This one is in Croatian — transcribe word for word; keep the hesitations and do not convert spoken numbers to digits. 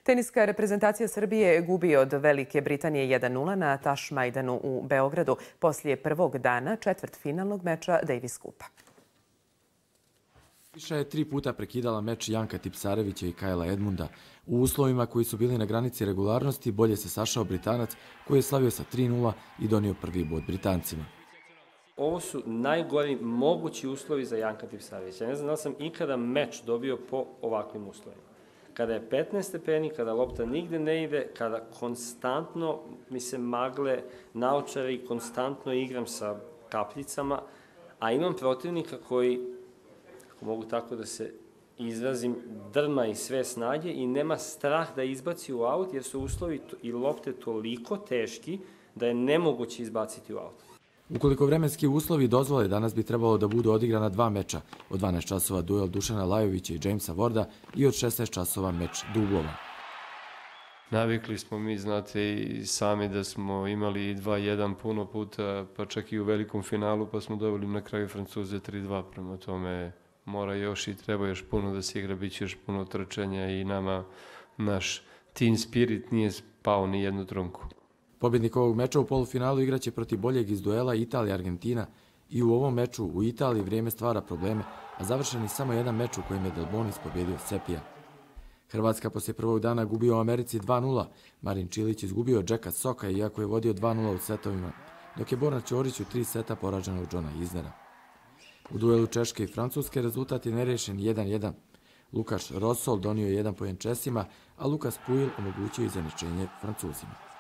Teniska reprezentacija Srbije gubi od Velike Britanije jedan nula na Tašmajdanu u Beogradu poslije prvog dana četvrtfinalnog meča Davis Kupa. Iša je tri puta prekidala meč Janka Tipsarevića i Kajla Edmunda. U uslovima koji su bili na granici regularnosti bolje se sašao Britanac koji je slavio sa tri nula i donio prvi bod Britancima. Ovo su najgori mogući uslovi za Janka Tipsarevića. Ne znam da sam ikada meč dobio po ovakvim uslovima. Kada je petnaest stepeni, kada lopta nigde ne ide, kada konstantno mi se magle naočare i konstantno igram sa kapljicama, a imam protivnika koji, ako mogu tako da se izrazim, drma i sve snage i nema strah da izbaci u aut, jer su uslovi i lopte toliko teški da je nemoguće izbaciti u aut. Ukoliko vremenski uslovi dozvole, danas bi trebalo da budu odigrana dva meča. Od dvanaest časova duel Dušana Lajovića i Jamesa Warda i od šesnaest časova meč dublova. Navikli smo mi, znate, i sami da smo imali dva jedan puno puta, pa čak i u velikom finalu, pa smo dobili na kraju Francuze tri dva. Prema tome mora još i treba još puno da se igra, bit će još puno trčanja i nama naš team spirit nije spao ni jednu trunku. Pobjednik ovog meča u polufinalu igraće protiv boljeg iz duela Italija-Argentina i u ovom meču u Italiji vrijeme stvara probleme, a završen je samo jedan meč u kojem je Delbonis pobjedio Sepija. Hrvatska poslije prvog dana gubi u Americi dva nula. Marin Čilić izgubio od Jacka Soka iako je vodio dva nula u setovima, dok je Borna Ćorić u tri seta poražen od Johna Isnera. U duelu Češke i Francuske rezultat je nerešen jedan jedan. Lukaš Rosol donio je jedan poen Česima, a Lukas Pujil omogućio izjednačenje Francuzima.